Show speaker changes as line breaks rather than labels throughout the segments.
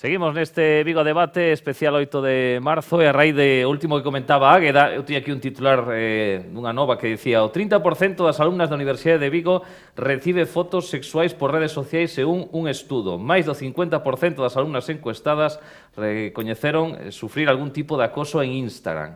Seguimos neste Vigo Debate especial 8 de marzo e a raíz de último que comentaba Águeda, eu tiña aquí un titular dunha nova que dicía o 30% das alumnas da Universidade de Vigo recibe fotos sexuais por redes sociais según un estudo. Mais do 50% das alumnas encuestadas recoñeceron sufrir algún tipo de acoso en Instagram.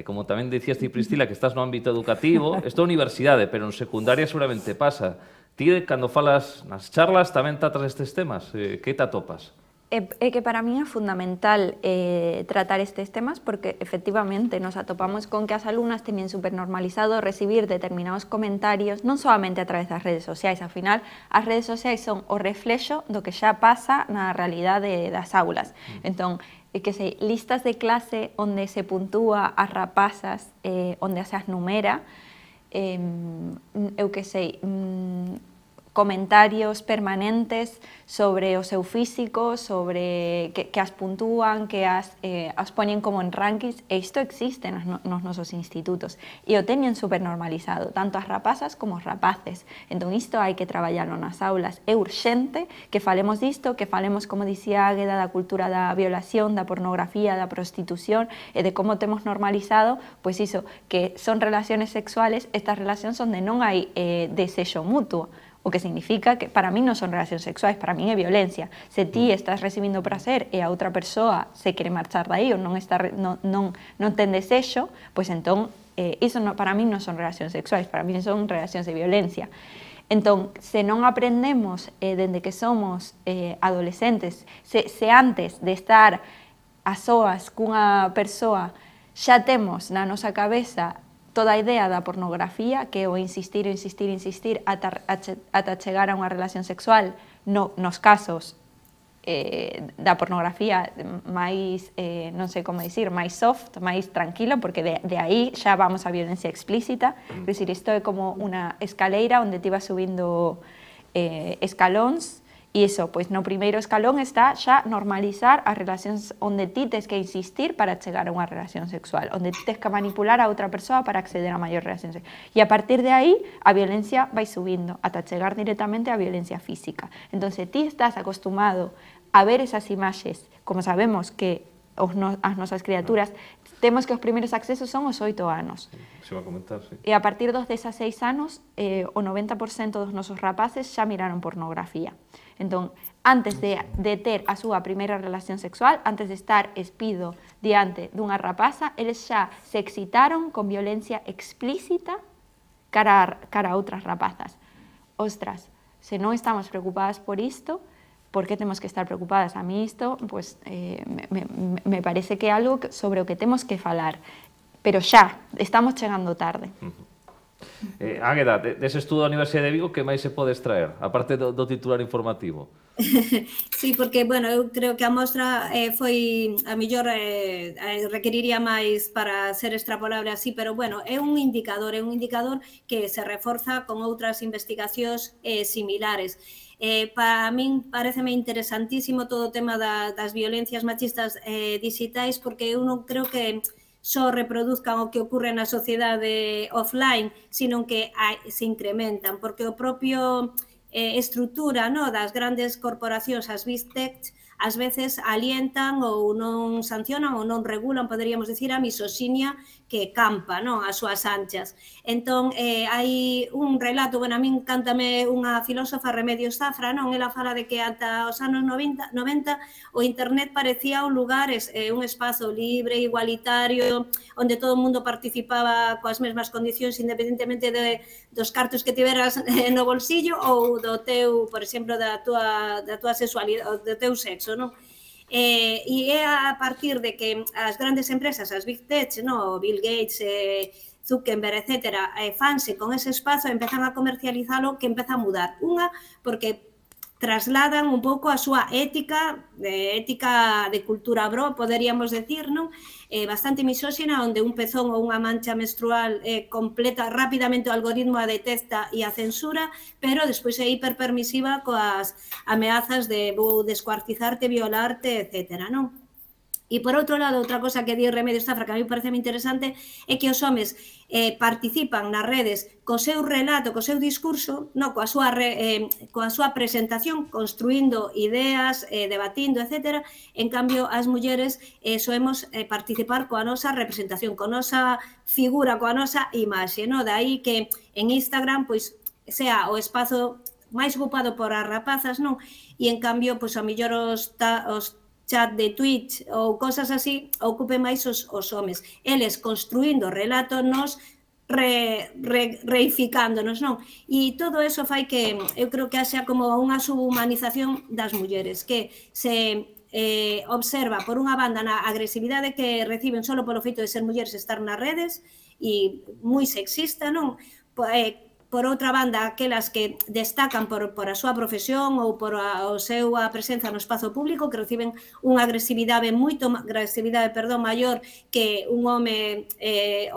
Como tamén dicías ti, Priscila, que estás no ámbito educativo, isto é universidade, pero en secundaria seguramente pasa. Ti, cando falas nas charlas, tamén tratas estes temas. Que te atopas?
É que para mí é fundamental tratar estes temas porque efectivamente nos atopamos con que as alumnas teñen supernormalizado recibir determinados comentarios non solamente a través das redes sociais, ao final as redes sociais son o reflexo do que xa pasa na realidade das aulas. Entón, que sei, listas de clase onde se puntúa as rapazas, onde se as numera, eu que sei, comentarios permanentes sobre o seu físico, sobre que as puntúan, que as poñen como en rankings, e isto existe nos nosos institutos e o teñen supernormalizado, tanto as rapazas como os rapaces. Entón isto hai que traballarlo nas aulas. É urxente que falemos disto, que falemos, como dicía Águeda, da cultura da violación, da pornografía, da prostitución e de como temos normalizado, pois iso, que son relaciones sexuales, estas relacións onde non hai desexo mutuo. O que significa que para mí non son relacións sexuais, para mí é violencia. Se ti estás recibindo prazer e a outra persoa se quere marchar dai ou non ten desexo, pois entón, iso para mí non son relacións sexuais, para mí son relacións de violencia. Entón, se non aprendemos dende que somos adolescentes, se antes de estar a soas cunha persoa xa temos na nosa cabeza toda a idea da pornografía, que é o insistir ata chegar a unha relación sexual nos casos da pornografía máis, non sei como dicir, máis soft, máis tranquilo, porque de aí xa vamos a violencia explícita. É dicir, isto é como unha escaleira onde ti vas subindo escalóns. E iso, pois no primeiro escalón está xa normalizar as relacións onde ti tes que insistir para chegar a unha relación sexual, onde ti tes que manipular a outra persoa para acceder a maior relación sexual. E a partir de aí, a violencia vai subindo, ata chegar directamente á violencia física. Entón, se ti estás acostumado a ver esas imaxes, como sabemos que as nosas criaturas, temos que os primeiros accesos son os 8 anos.
Se va a comentar, sí.
E a partir dos 16 anos, o 90% dos nosos rapaces xa miraron pornografía. Entón, antes de ter a súa primeira relación sexual, antes de estar espido diante dunha rapaza, eles xa se excitaron con violencia explícita cara a outras rapazas. Ostras, se non estamos preocupadas por isto, por que temos que estar preocupadas? A mí isto, pues, me parece que é algo sobre o que temos que falar, pero xa, estamos chegando tarde.
Águeda, dese estudo da Universidade de Vigo, que máis se pode extraer, aparte do titular informativo?
Sí, porque, bueno, eu creo que a mostra foi, a mellor requeriría máis para ser extrapolable así, pero, bueno, é un indicador que se reforza con outras investigacións similares. Para min pareceme interesantísimo todo o tema das violencias machistas digitais, porque eu non creo que só reproduzcan o que ocorre na sociedade offline, sino que se incrementan, porque o propio estrutura das grandes corporacións, as Big Tech, ás veces alientan ou non sancionan ou non regulan, poderíamos dicir, a misoxinia que campa as súas anchas. Entón, hai un relato, bueno, a min cántame unha filósofa, Remedios Zafra, ela fala de que ata os anos 90 o internet parecía un lugar, un espazo libre, igualitario, onde todo o mundo participaba coas mesmas condicións, independentemente dos cartos que tiveras no bolsillo ou do teu, por exemplo, da tua sexualidade, do teu sexo, non? E é a partir de que as grandes empresas, as Big Tech, Bill Gates, Zuckerberg, etc., fanse con ese espazo e empezan a comercializalo, que empeza a mudar. Unha, porque trasladan un pouco a súa ética de cultura bro, poderíamos decir, bastante misóxina, onde un pezón ou unha mancha menstrual completa rapidamente o algoritmo a detecta e a censura, pero despois é hiperpermisiva coas ameazas de vou descuartizarte, violarte, etc. E, por outro lado, outra cosa que di Remedios Zafra que a mí parece moi interesante é que os homes participan nas redes co seu relato, co seu discurso, coa súa presentación, construindo ideas, debatindo, etc. En cambio, as mulleres soemos participar coa nosa representación, coa nosa figura, coa nosa imaxe. De aí que en Instagram pois sea o espazo máis ocupado por as rapazas, e en cambio, pois a mellor os chat de Twitch ou cosas así, ocupen máis os homes. Eles construindo relatos, nos reificándonos, E todo eso fai que, eu creo que haxa como unha subhumanización das mulleres, que se observa, por unha banda, na agresividade que reciben só polo feito de ser mulleres estar nas redes, e moi sexista, Por outra banda, aquelas que destacan por a súa profesión ou por a súa presenza no espazo público, que reciben unha agresividade maior que un home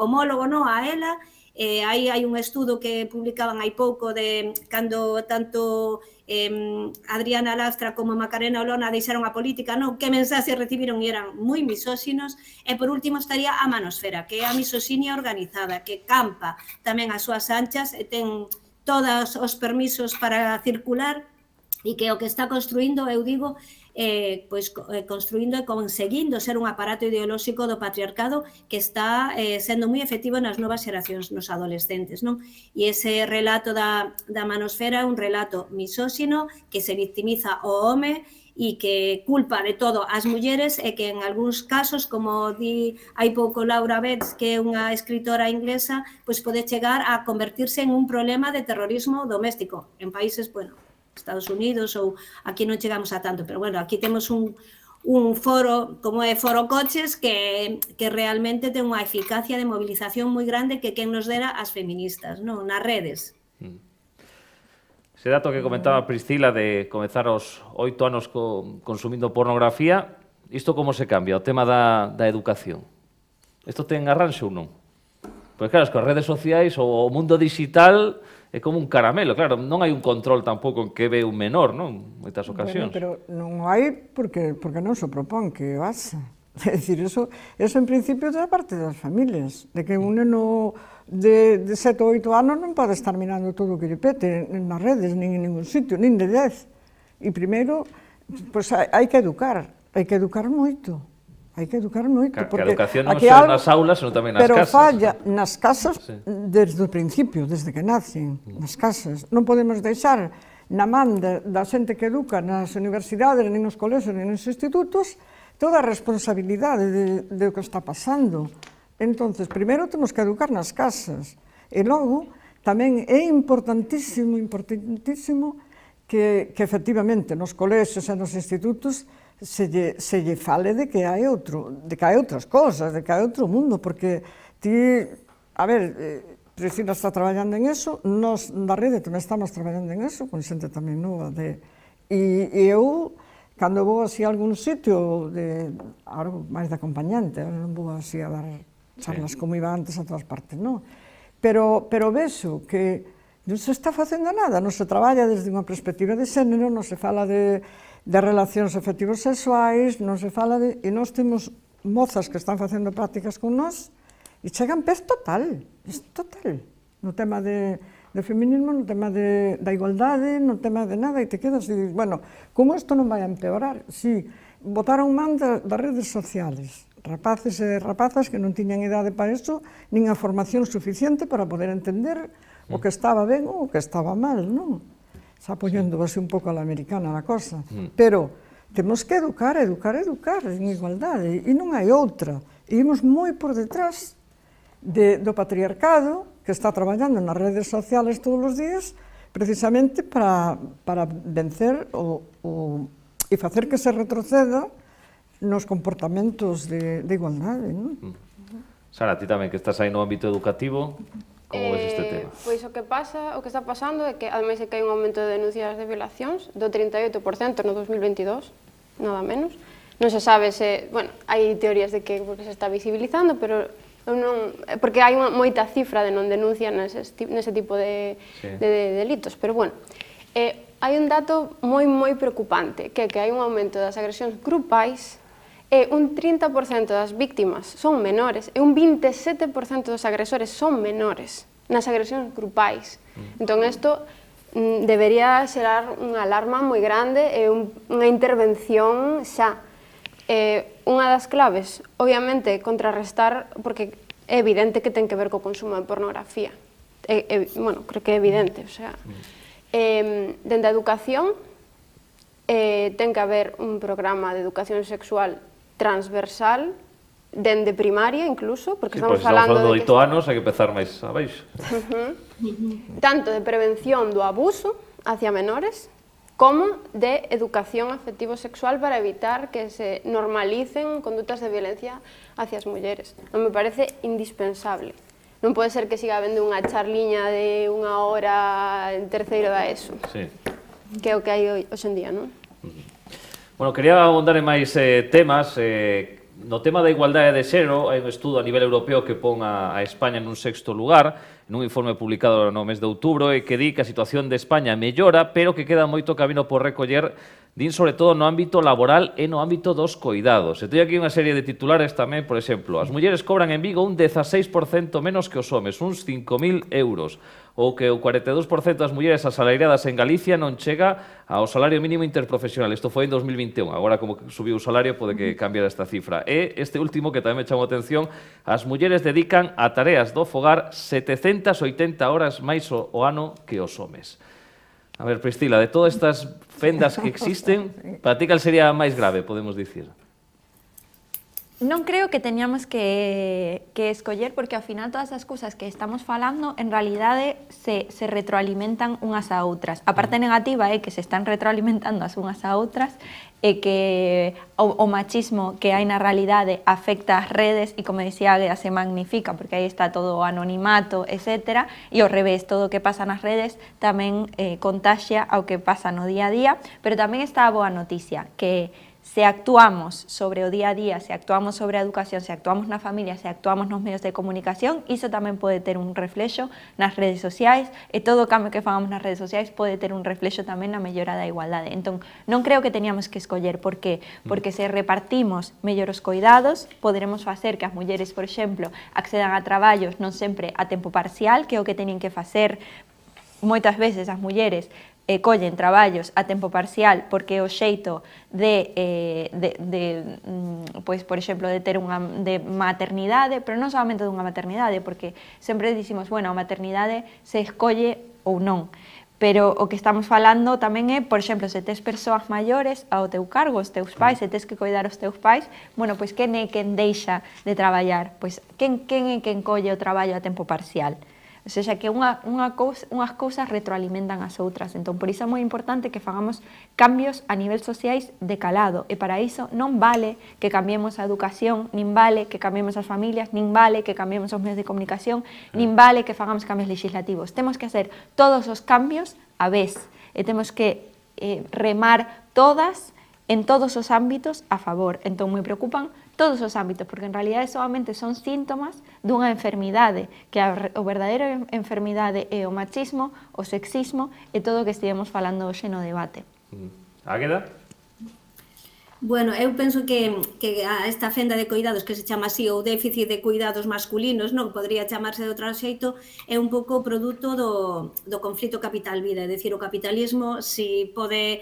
homólogo a ela. Aí hai un estudo que publicaban hai pouco de cando tanto Adriana Lastra como Macarena Olona deixaron a política, que mensaxes recibiron e eran moi misóxinos. E por último estaría a manosfera, que é a misoxinia organizada, que campa tamén as súas anchas e ten todos os permisos para circular, e que o que está construindo, eu digo, construindo e conseguindo ser un aparato ideolóxico do patriarcado que está sendo moi efectivo nas novas xeracións, nos adolescentes, E ese relato da manosfera é un relato misóxino que se victimiza o home e que culpa de todo as mulleres, e que en algúns casos, como di hai pouco Laura Betts, que é unha escritora inglesa, pois pode chegar a convertirse en un problema de terrorismo doméstico en países, Estados Unidos, ou aquí non chegamos a tanto, pero aquí temos un foro, como é Foro Coches, que realmente ten unha eficacia de movilización moi grande que quen nos dera as feministas, nas redes.
Ese dato que comentaba Priscila de comezar aos 8 anos consumindo pornografía, isto como se cambia? O tema da educación. Isto ten arranxo ou non? Pois claro, as redes sociais, o mundo digital é como un caramelo, claro, non hai un control tampouco en que ve un menor, moitas ocasións.
Pero non hai porque non se propón que o haxa. É dicir, eso en principio é da parte das familias, de que un neno de 7 ou 8 anos non pode estar mirando todo o que lle pete nas redes, nin en ningún sitio, nin de 10. E primeiro, pois hai que educar moito. Hai que educar moito.
Que a educación non só nas aulas, senón tamén nas casas.
Pero falla nas casas desde o principio, desde que nacen, nas casas. Non podemos deixar na man da xente que educa nas universidades, nin nos colexios, nin nos institutos, toda a responsabilidade de o que está pasando. Entonces, primeiro temos que educar nas casas. E logo, tamén é importantísimo que efectivamente nos colexios e nos institutos se lle fale de que hai outras cosas, de que hai outro mundo, porque Priscila está traballando en eso, nós na rede tamén estamos traballando en eso, con xente tamén nova, e eu, cando vou así a algún sitio, agora máis de acompañante, non vou así a dar charlas como iba antes a todas partes, pero vexo que non se está facendo nada, non se traballa desde unha perspectiva de xénero, non se fala de relacións afectivos sexuais, non se fala e nós temos mozas que están facendo prácticas con nós e chegan pez total, no tema de feminismo, no tema da igualdade, no tema de nada, e te quedas e dices, como isto non vai a empeorar? Si, botaron man das redes sociales, rapaces e rapazas que non tiñan idade para iso, nin a formación suficiente para poder entender o que estaba ben ou o que estaba mal, non? Está poñendo así un pouco a la americana a cosa, pero temos que educar en igualdade, e non hai outra. E imos moi por detrás do patriarcado que está traballando nas redes sociales todos os días, precisamente para vencer e facer que se retroceda nos comportamentos de igualdade.
Sara, ti tamén que estás aí no ámbito educativo, como ves este tema?
Pois o que está pasando é que, ademais de que hai un aumento de denuncias de violacións do 38% no 2022, nada menos. Non se sabe se, hai teorías de que se está visibilizando, pero non, porque hai moita cifra de non denuncia nese tipo de delitos, pero hai un dato moi preocupante, que é que hai un aumento das agresións grupais un 30% das víctimas son menores e un 27% dos agresores son menores nas agresións grupais. Entón, isto debería xerar unha alarma moi grande e unha intervención xa. Unha das claves, obviamente, contrarrestar, porque é evidente que ten que ver co consumo de pornografía. Bueno, creo que é evidente, o sea, dende a educación ten que haber un programa de educación sexual transversal, dende primaria incluso, porque estamos falando
de 8 anos, hai que empezar máis abaixo.
Tanto de prevención do abuso hacia menores, como de educación afectivo-sexual para evitar que se normalicen condutas de violencia hacia as mulleres. Non me parece indispensable. Non pode ser que siga habendo unha charliña de 1 hora en terceiro da ESO, que é o que hai hoxe en día, non?
Bueno, quería abondar en máis temas. No tema da igualdade de xénero, hai un estudo a nivel europeo que pon a España nun 6º lugar, nun informe publicado no mes de outubro, e que di que a situación de España mellora, pero que queda moito camino por recoller, din sobre todo no ámbito laboral e no ámbito dos coidados. E teño aquí unha serie de titulares tamén, por exemplo, as mulleres cobran en Vigo un 16% menos que os homes, uns 5.000 euros, ou que o 42% das mulleres asalariadas en Galicia non chega ao salario mínimo interprofesional. Isto foi en 2021, agora como que subiu o salario pode que cambiar esta cifra. E este último que tamén me chamou a atención, as mulleres dedican a tareas do fogar 780 horas máis o ano que os homes. A ver, Priscila, de todas estas fendas que existen, para ti cal sería a máis grave, podemos dicir?
Non creo que teñamos que escoller, porque ao final todas as cousas que estamos falando en realidade se retroalimentan unhas a outras. A parte negativa é que se están retroalimentando as unhas a outras e que o machismo que hai na realidade afecta as redes e, como dicía Águeda, se magnifica porque aí está todo o anonimato, etc. E ao revés, todo o que pasa nas redes tamén contaxia ao que pasa no día a día, pero tamén está a boa noticia, que se actuamos sobre o día a día, se actuamos sobre a educación, se actuamos na familia, se actuamos nos medios de comunicación, iso tamén pode ter un reflexo nas redes sociais, e todo o cambio que fagamos nas redes sociais pode ter un reflexo tamén na mellora da igualdade. Entón, non creo que teníamos que escoller. Por qué? Porque se repartimos mellor os coidados, poderemos facer que as mulleres, por exemplo, accedan a traballos non sempre a tempo parcial, que é o que teñen que facer moitas veces as mulleres, collen traballos a tempo parcial porque o xeito pois, por exemplo, de ter unha maternidade, pero non solamente dunha maternidade, porque sempre dicimos, bueno, a maternidade se escolle ou non, pero o que estamos falando tamén é, por exemplo, se tes persoas maiores ao teu cargo, os teus pais, se tes que coidar os teus pais, bueno, pois quen é quen deixa de traballar? Pois quen é quen colle o traballo a tempo parcial? O sea, que unhas cousas retroalimentan as outras. Entón, por iso é moi importante que fagamos cambios a nivel sociais de calado. E para iso non vale que cambiemos a educación, nin vale que cambiemos as familias, nin vale que cambiemos os medios de comunicación, nin vale que fagamos cambios legislativos. Temos que hacer todos os cambios a vez. E temos que remar todas en todos os ámbitos a favor. Entón, me preocupan todos os ámbitos, porque en realidade solamente son síntomas dunha enfermidade, que o verdadeiro enfermidade é o machismo, o sexismo e todo o que estivemos falando hoxe no debate.
Águeda?
Bueno, eu penso que esta fenda de cuidados que se chama así, o déficit de cuidados masculinos, non podría chamarse de outro xeito, é un pouco produto do conflito capital-vida, é dicir, o capitalismo si pode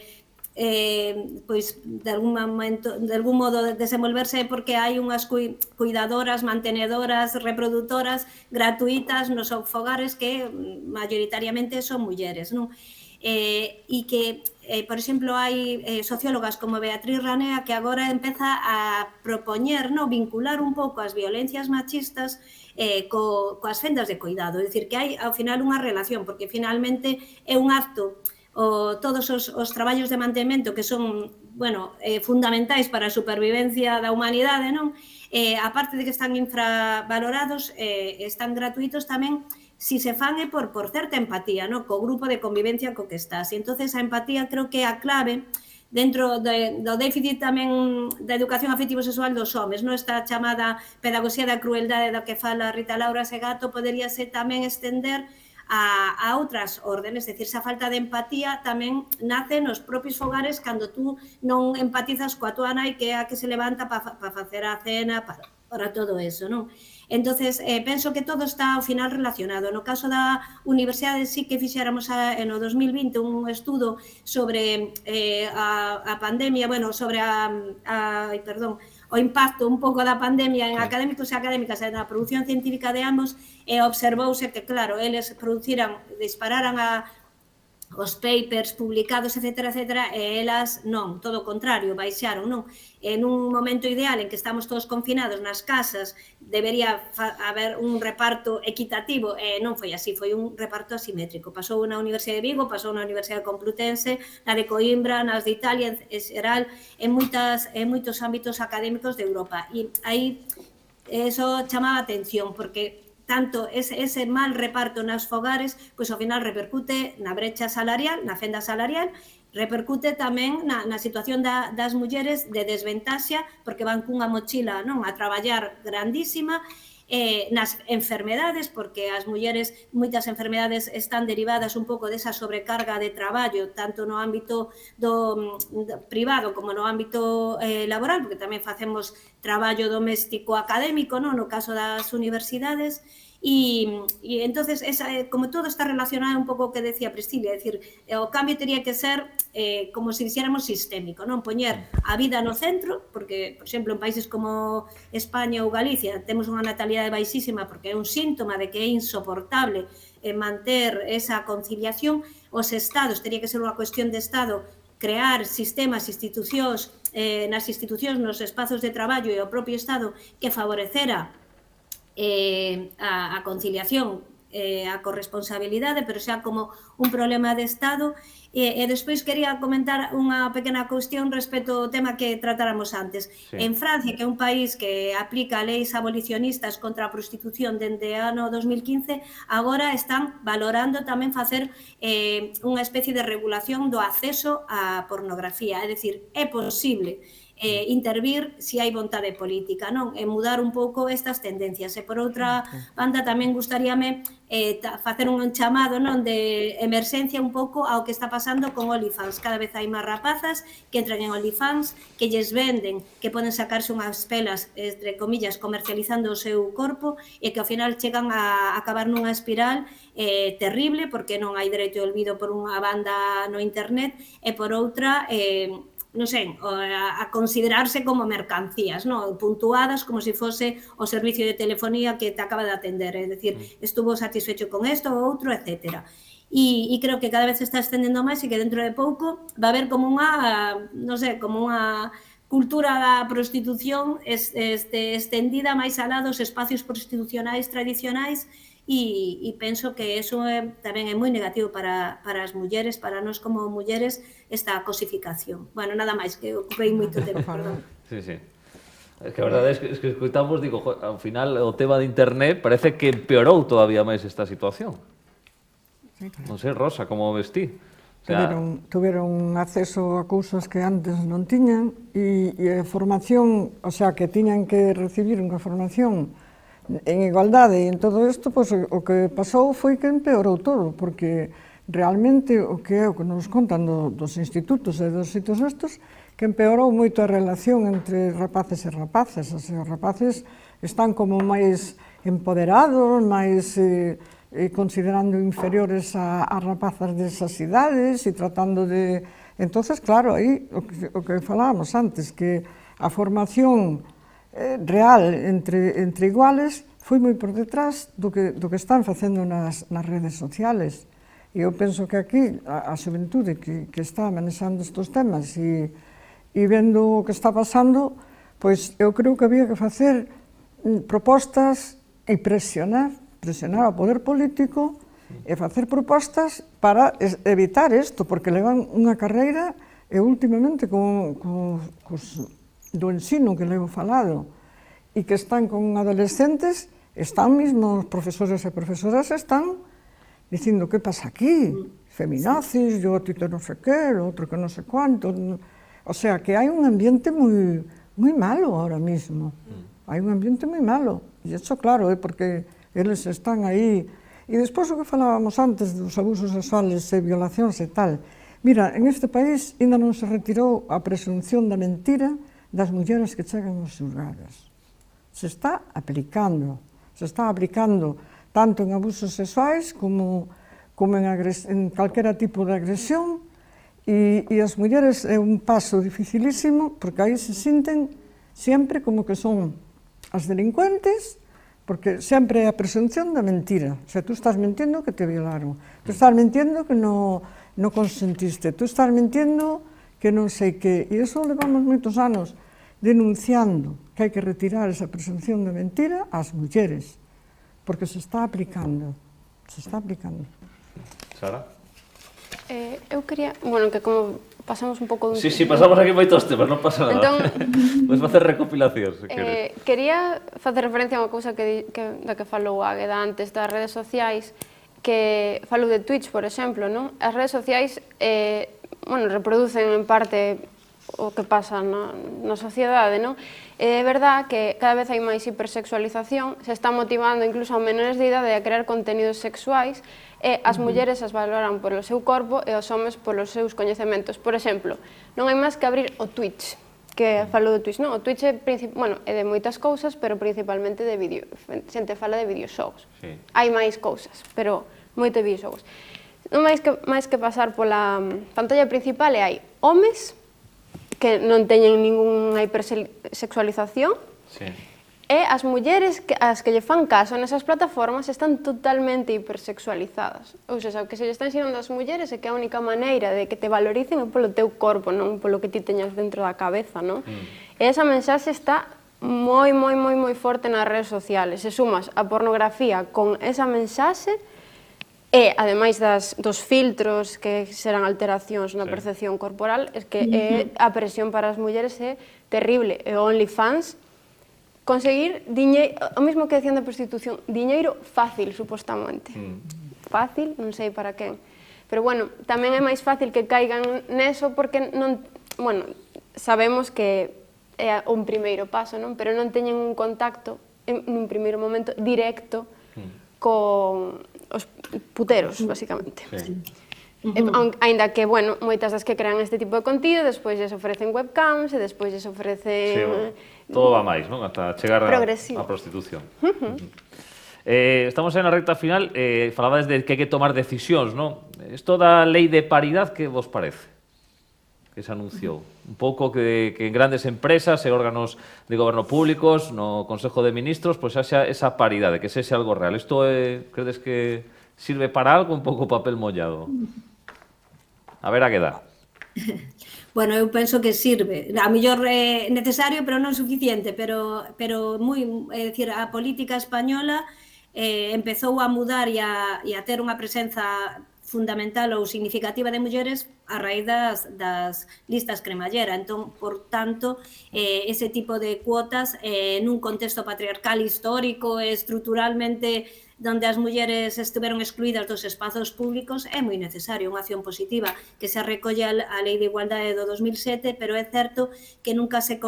pois de algún modo desenvolverse porque hai unhas cuidadoras, mantenedoras, reproductoras gratuitas nos fogares que maioritariamente son mulleres, non? E que, por exemplo, hai sociólogas como Beatriz Ranea que agora empeza a propoñer, vincular un pouco as violencias machistas coas fendas de cuidado, é dicir, que hai ao final unha relación, porque finalmente é un acto todos os traballos de mantemento que son, bueno, fundamentais para a supervivencia da humanidade, non? Aparte de que están infravalorados, están gratuitos tamén si se fan por certa empatía, non? Co grupo de convivencia co que estás. E entonces a empatía creo que é a clave dentro do déficit tamén da educación afectivo-sexual dos homes, non? Esta chamada pedagogía da crueldade da que fala Rita Laura Segato poderíase tamén estender a outras órdenes, é dicir, esa falta de empatía tamén nace nos propios fogares cando tú non empatizas coa tua nai que é a que se levanta para facer a cena, para todo eso, non? Entonces, penso que todo está ao final relacionado. No caso da universidade sí que fixéramos no 2020 un estudo sobre a pandemia, bueno, sobre o impacto un pouco da pandemia en académicos e académicas e na produción científica de ambos, e observouse que, claro, eles dispararan os papers publicados, etc., e elas non, todo o contrario, baixaron, non? En un momento ideal en que estamos todos confinados nas casas, debería haber un reparto equitativo, e non foi así, foi un reparto asimétrico. Pasou na Universidade de Vigo, pasou na Universidade Complutense, na de Coimbra, nas de Italia, en xeral, en moitos ámbitos académicos de Europa. E aí, eso chamaba a atención, porque tanto ese mal reparto nas fogares, pois ao final repercute na brecha salarial, na fenda salarial, repercute tamén na situación das mulleres de desventaxa, porque van cunha mochila a traballar grandísima, nas enfermedades, porque as mulleres, moitas enfermedades están derivadas un pouco desa sobrecarga de traballo, tanto no ámbito privado como no ámbito laboral, porque tamén facemos traballo doméstico académico, no caso das universidades, e entonces, como todo está relacionado un pouco o que decía Priscila, é dicir, o cambio teria que ser como se dixéramos sistémico, non poñer a vida no centro, porque, por exemplo, en países como España ou Galicia temos unha natalidade baixísima porque é un síntoma de que é insoportable manter esa conciliación. Os estados, teria que ser unha cuestión de estado, crear sistemas, institucións, nas institucións, nos espazos de traballo e o propio estado que favorecera a conciliación, a corresponsabilidade, pero xa como un problema de Estado. E despois quería comentar unha pequena cuestión respecto ao tema que tratáramos antes. En Francia, que é un país que aplica leis abolicionistas contra a prostitución dende o ano 2015, agora están valorando tamén facer unha especie de regulación do acceso á pornografía, é dicir, é posible intervir se hai vontade política, non? E mudar un pouco estas tendencias. E por outra banda tamén gustaríame facer un chamado de emerxencia un pouco ao que está pasando con OnlyFans. Cada vez hai máis rapazas que entran en OnlyFans, que lles venden, que poden sacarse unhas pelas, entre comillas, comercializando o seu corpo, e que ao final chegan a acabar nunha espiral terrible, porque non hai dereito de olvido por unha banda no internet, e por outra non sei, a considerarse como mercancías, puntuadas como se fose o servicio de telefonía que te acaba de atender, é dicir, estuvo satisfecho con isto ou outro, etc. E creo que cada vez se está estendendo máis e que dentro de pouco va a haber como unha, non sei, como unha cultura da prostitución estendida máis alá dos espacios prostitucionais tradicionais. E penso que eso tamén é moi negativo para as mulleres, para nós como mulleres, esta cosificación. Bueno, nada máis, que ocupei moito tempo, perdón.
Sí. Es que a verdade é que escoitamos, digo, ao final o tema de internet parece que empeorou todavía máis esta situación. Non sei, Rosa, como ves ti?
Tuveron acceso a cousas que antes non tiñan e a formación, o sea, que tiñan que recibir unha formación en igualdade, e en todo isto, pois, o que pasou foi que empeorou todo, porque realmente o que é o que nos contan dos institutos e dos sitios estos, que empeorou moito a relación entre rapaces e rapazas. Os rapaces están como máis empoderados, máis considerando inferiores a rapazas desas idades e tratando de... Entonces, claro, aí o que falábamos antes, que a formación real entre iguales foi moi por detrás do que están facendo nas redes sociales. E eu penso que aquí a xuventude que está manexando estes temas e vendo o que está pasando, pois eu creo que había que facer propostas e presionar ao poder político e facer propostas para evitar isto, porque levan unha carreira e últimamente do ensino que levo falado e que están con adolescentes, están mesmo os profesores e profesoras están dicindo que pasa aquí, feminazis, yo a ti te non sei que, o outro que non sei cuánto. O sea, que hai un ambiente moi malo ahora mismo. Hai un ambiente moi malo. E iso, claro, é porque eles están aí E despois o que falábamos antes dos abusos sexuales e violacións e tal, mira, en este país ainda non se retirou a presunción da mentira das mulleres que chegan aos xulgados. Se está aplicando tanto en abusos sexuais como en calquera tipo de agresión, e as mulleres é un paso dificilísimo, porque aí se sinten sempre como que son as delincuentes, porque sempre é a presunción da mentira. O sea, tú estás mentindo que te violaron, tú estás mentindo que non consentiste, tú estás mentindo que non sei que... E iso levamos moitos anos denunciando que hai que retirar esa presunción de mentira ás mulleres, porque se está aplicando.
Sara?
Eu quería, bueno, que como pasamos un pouco...
Sí, pasamos aquí moitos temas, non pasa nada.
Entón,
podes facer recopilacións, se queres.
Quería facer referencia a unha cousa da que falou Águeda antes das redes sociais, que falou de Twitch, por exemplo, non? As redes sociais, bueno, reproducen en parte o que pasa na sociedade, non? É verdad que cada vez hai máis hipersexualización, se está motivando incluso a menores de idade a crear contenidos sexuais, e as mulleres as valoran polo seu corpo e os homes polos seus coñecementos. Por exemplo, non hai máis que abrir o Twitch, que falou do Twitch, non? O Twitch é de moitas cousas, pero principalmente de vídeo. Xente fala de videoxogos. Hai máis cousas, pero moito de videoxogos. Non máis que pasar pola pantalla principal e hai homes que non teñen ningunha hipersexualización, e as mulleres as que lle fan caso nesas plataformas están totalmente hipersexualizadas. Ou seja, o que se lle está ensinando ás mulleres é que a única maneira de que te valoricen é polo teu corpo, non polo que ti teñas dentro da cabeza, non? E esa mensaxe está moi forte nas redes sociales. Se sumas a pornografía con esa mensaxe, e, ademais dos filtros que serán alteracións na percepción corporal, é que a presión para as mulleres é terrible. E o OnlyFans, conseguir diñeiro, o mesmo que decían da prostitución, diñeiro fácil, supostamente. Fácil, non sei para quen. Pero, bueno, tamén é máis fácil que caigan neso porque non, bueno, sabemos que é un primeiro paso, non? Pero non teñen un contacto, nun primeiro momento, directo con os puteros, basicamente. Ainda que, bueno, moitas das que crean este tipo de contido, despois lles ofrecen webcams e despois lles ofrecen...
Todo va máis, non? Ata chegar á prostitución. Estamos na recta final, falabades de que hai que tomar decisións, non? Isto da lei de paridade, que vos parece? Que se anunciou. Un pouco que en grandes empresas e órganos de goberno públicos, no Consejo de Ministros, pois haxa esa paridade, que sexe algo real. Isto credes que sirve para algo, un pouco papel mollado? A ver a que dá.
Bueno, eu penso que sirve. A mellor é necesario, pero non suficiente, pero moi, é dicir, a política española empezou a mudar e a ter unha presenza fundamental ou significativa de mulleres a raíz das listas cremallera. Entón, por tanto, ese tipo de cuotas nun contexto patriarcal histórico e estruturalmente donde as mulleres estiveron excluídas dos espazos públicos é moi necesario, unha acción positiva que se recolle a Lei de Igualdade do 2007, pero é certo que nunca se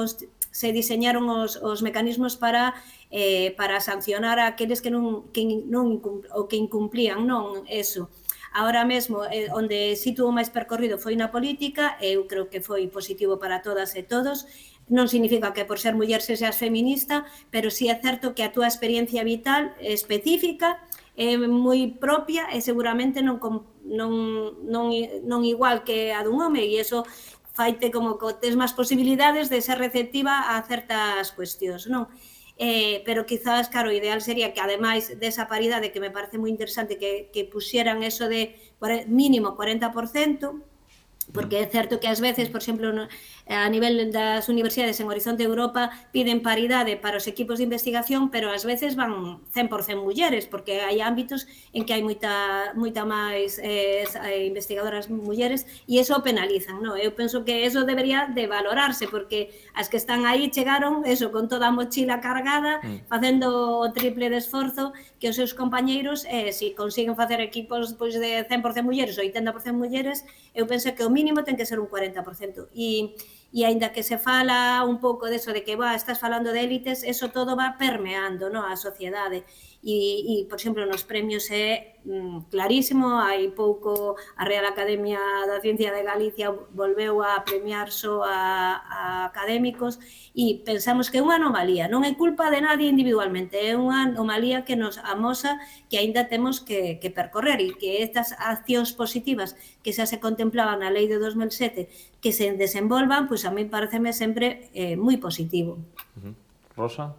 diseñaron os mecanismos para sancionar a aqueles que incumplían, non eso. Ahora mesmo, onde si tuvo máis percorrido foi na política, eu creo que foi positivo para todas e todos. Non significa que por ser muller seas feminista, pero sí é certo que a túa experiencia vital específica é moi propia e seguramente non igual que a dun home, e iso faite como que tes máis posibilidades de ser receptiva a certas cuestións, non? Pero quizás, claro, o ideal sería que, ademais desa paridade, que me parece moi interesante, que puxeran eso de mínimo 40%, porque é certo que ás veces, por exemplo, a nivel das universidades en Horizonte Europa piden paridade para os equipos de investigación, pero ás veces van 100% mulleres, porque hai ámbitos en que hai moita máis investigadoras mulleres e iso penalizan, non? Eu penso que eso debería de valorarse, porque as que están aí chegaron eso, con toda a mochila cargada, facendo o triple de esforzo que os seus compañeiros, se consiguen facer equipos de 100% mulleres ou 80% mulleres, eu penso que o mínimo ten que ser un 40%. E aínda que se fala un pouco deso de que estás falando de élites, eso todo va permeando a sociedade. E, por exemplo, nos premios é clarísimo. Hai pouco a Real Academia da Ciencia de Galicia volveu a premiar só a académicos e pensamos que é unha anomalía, non é culpa de nadie individualmente, é unha anomalía que nos amosa que aínda temos que percorrer e que estas accións positivas que xa se contemplaban na lei de 2007 que se desenvolvan, pois a mí pareceme sempre moi positivo.
Rosa?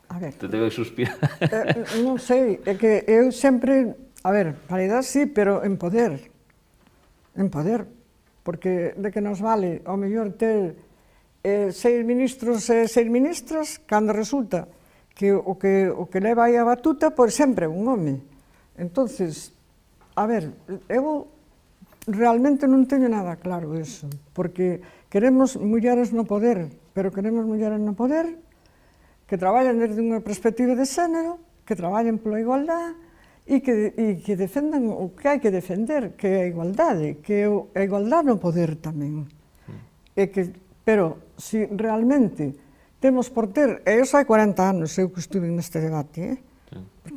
A ver,
Te debe suspirar.
non sei, é que eu sempre, a ver, paridade sí, pero en poder, porque de que nos vale ao mellor ter 6 ministros e 6 ministras, cando resulta que o que leva aí a batuta, pois sempre é un home. Entonces, a ver, eu realmente non teño nada claro eso, porque queremos mulleres no poder, pero queremos mulleres no poder que traballen desde unha perspectiva de xénero, que traballen pola igualdade e que defendan o que hai que defender, que é a igualdade, que é a igualdade no poder tamén. Pero, se realmente temos por ter, e eu hai 40 anos eu que estuve neste debate,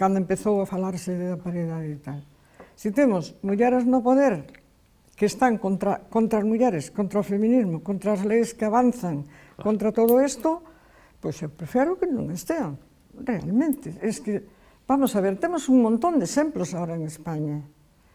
cando empezou a falarse da paridade e tal, se temos mulleres no poder que están contra as mulleres, contra o feminismo, contra as leis que avanzan, contra todo isto, pois eu prefiro que non estean, realmente. Es que, vamos a ver, temos un montón de exemplos agora en España,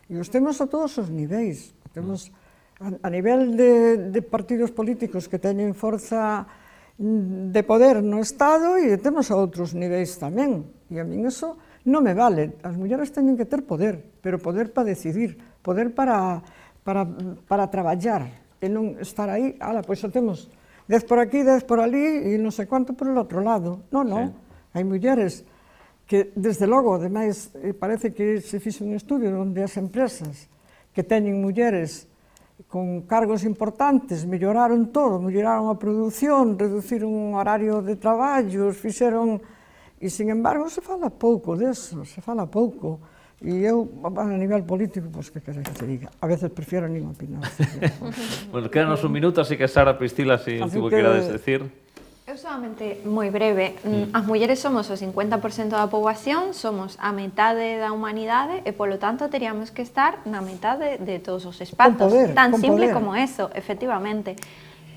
e os temos a todos os niveis. Temos a nivel de partidos políticos que teñen forza de poder no Estado e temos a outros niveis tamén. E a min eso non me vale. As mulleres teñen que ter poder, pero poder para decidir, poder para traballar, e non estar aí, pois xa temos 10 por aquí, 10 por ali e non sei quanto por el outro lado. Non, non. Hai mulleres que, desde logo, ademais, parece que se fixe un estudio onde as empresas que teñen mulleres con cargos importantes melloraron todo, melloraron a produción, reduciron o horario de traballo, fixeron... E, sin embargo, se fala pouco deso, se fala pouco. E eu, a nivel político, pois que queres que te diga, a veces prefiero nin opinar.
Bueno, quédanos un minuto, así que Sara Pristila, si último que querades decir.
Eu solamente moi breve, as mulleres somos o 50% da poboación, somos a metade da humanidade e polo tanto teríamos que estar na metade de todos os espazos, tan simple como eso, efectivamente.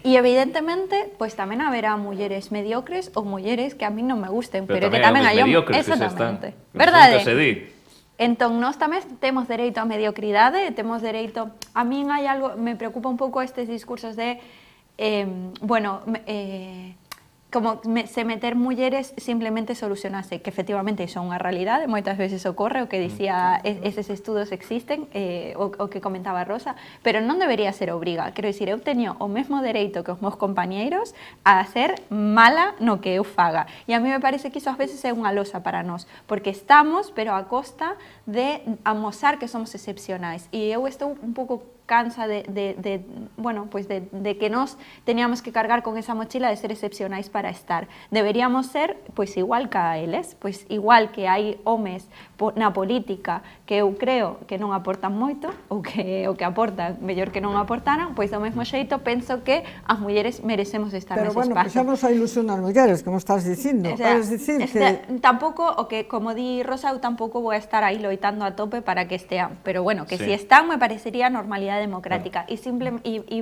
E evidentemente, pois tamén haberá mulleres mediocres ou mulleres que a mí non me gusten, pero que tamén hai hombres, exactamente. Verdade? Entón, nós tamén temos dereito á mediocridade, temos dereito... A min hai algo, me preocupa un pouco estes discursos de, como se meter mulleres simplemente solucionase, que efectivamente iso é unha realidade, moitas veces ocorre, o que dicía, eses estudos existen, o que comentaba Rosa, pero non debería ser obriga. Quero dicir, eu teño o mesmo dereito que os meus compañeiros a ser mala no que eu faga. E a mí me parece que iso ás veces é unha losa para nós, porque estamos, pero a costa de amosar que somos excepcionais. E eu estou un pouco cansa de que nós teníamos que cargar con esa mochila de ser excepcionais para estar. Deberíamos ser, pois, igual que a eles, pois, igual que hai homes na política que eu creo que non aportan moito, ou que aportan mellor que non aportaran, pois, do mesmo xeito, penso que as mulleres merecemos estar nese espazo.
Pero, bueno, puxamos a ilusión as mulleres, como estás dicindo.
Tampouco, o que, como di Rosa, eu tampouco vou estar aí loitando a tope para que estean, pero, bueno, que si están, me parecería normalidade democrática. E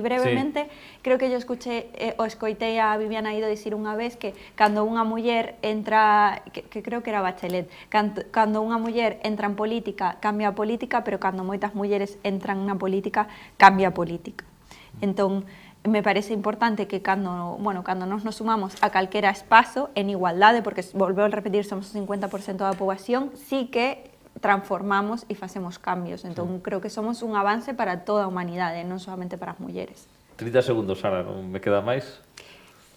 brevemente, creo que yo escoitei a Viviana Ido dicir unha vez que cando unha muller entra, que creo que era Bachelet, cando unha muller entra en política, cambia a política, pero cando moitas mulleres entran na política, cambia a política. Entón, me parece importante que cando nos sumamos a calquera espazo en igualdade, porque volveu a repetir, somos o 50% da poboación, sí que transformamos e facemos cambios. Entón, creo que somos un avance para toda a humanidade, non solamente para as mulleres.
30 segundos, Sara, non me queda máis?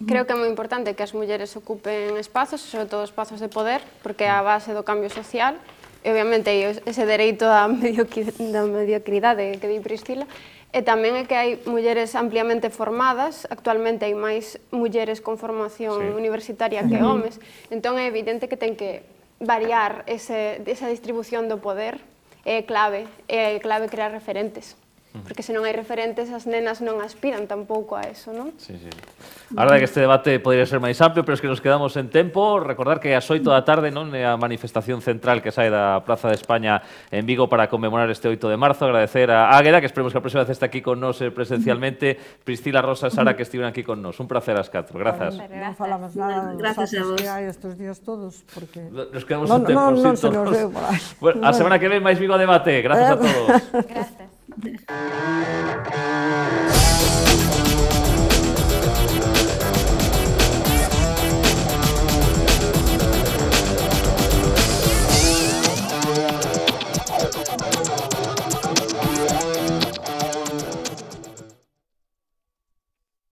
Creo que é moi importante que as mulleres ocupen espazos, sobre todo espazos de poder, porque é a base do cambio social, e obviamente ese dereito á mediocridade que di Pristila, e tamén é que hai mulleres ampliamente formadas, actualmente hai máis mulleres con formación universitaria que homes, entón é evidente que ten que variar esa distribución do poder, é clave crear referentes. porque se non hai referentes, as nenas non aspiran tampouco a eso, non?
Sí, sí. A verdade que este debate podría ser máis amplio, pero es que nos quedamos en tempo. Recordar que ás 8 da tarde non é a manifestación central que sae da Praza de España en Vigo para conmemorar este 8 de marzo. Agradecer a Águeda, que esperemos que a próxima vez este aquí con nos presencialmente. Priscila, Rosa e Sara, que estiven aquí con nos. Un placer ás 4. Grazas.
Non falamos nada dos
Gracias a
actos
vos.
que hai estes días todos, porque...
Nos quedamos
Non,
en tempo.
non
sí,
se nos
todos.
deu por aí.
Bueno, a semana que ven máis Vigo a debate. Gracias a todos.
Gracias.